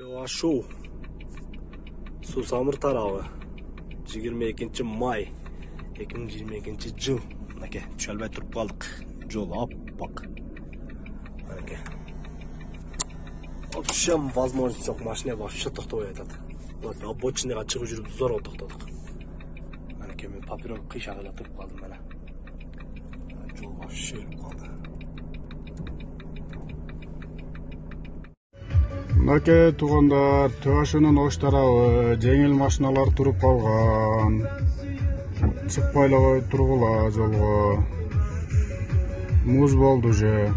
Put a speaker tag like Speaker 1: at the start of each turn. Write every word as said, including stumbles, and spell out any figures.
Speaker 1: Тыва Шуу Суу Самыр тарабы жыйырма экинчи май эки миң жыйырма экинчи жыл. Мынакей түшө албай туруп калдык. Жол аппак. Мынакей. Вообще возможность жок, машина вообще токтобой атат. Вот обочинаға чыгып жүрүп зор токтодук. Мынакей мен папирос кыйшак эле туруп калдым мына. Жол вообще өлүп калды.
Speaker 2: Мынакей туугандар, Тыва Шуунун ош тарабы жеңил машиналар туруп калган. Чыкпай эле тургула жолго. Муз болду же.